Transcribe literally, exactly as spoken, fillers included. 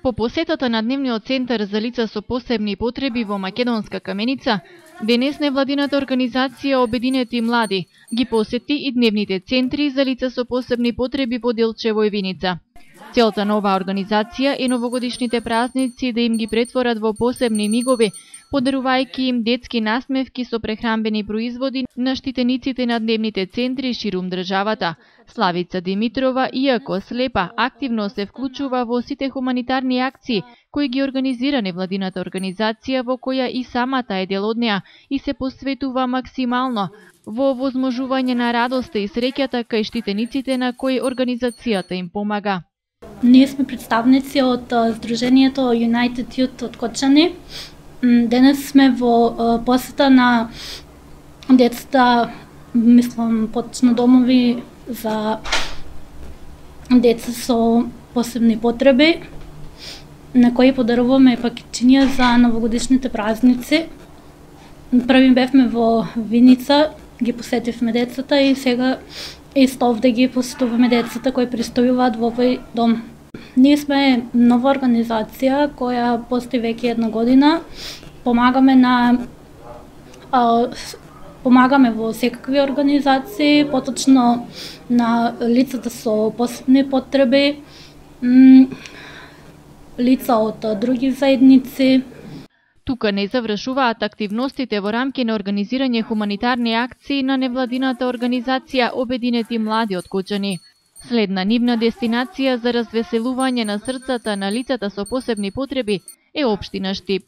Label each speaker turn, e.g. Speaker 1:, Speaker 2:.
Speaker 1: По посетата на Дневниот центар за лица со посебни потреби во Македонска Каменица, денес невладината организација Обединети млади ги посети и дневните центри за лица со посебни потреби во Делчево и Виница. Целта на оваа организација е новогодишните празници да им ги претворат во посебни мигови, подарувајќи им детски насмевки со прехранбени производи на штитениците на дневните центри ширум државата. Славица Димитрова, иако слепа, активно се вклучува во сите хуманитарни акции кои ги организира невладината организација, во која и самата е дел од неа и се посветува максимално во возможување на радоста и среќата кај штитениците на кои организацијата им помага.
Speaker 2: Ние сме представници од Сдруженијето United Youth од Кочани. Денес сме во посета на децата, мислам, поточно домови за деца со посебни потреби, на кои подаруваме пакетчиња за новогодишните празници. Први бевме во Виница, ги посетивме децата и сега исто овде ги посетуваме децата кои пристојуваат во овој дом. Ние сме нова организација која постои веќе една година. Помагаме на а, помагаме во секакви организации, поточно на лицата со посебни потреби, лица од други заедници.
Speaker 1: Тука не завршуваат активностите во рамки на организирање хуманитарни акции на невладината организација Обединети млади од Кочани. Следна нивна дестинација за развеселување на срцата на лицата со посебни потреби е општина Штип.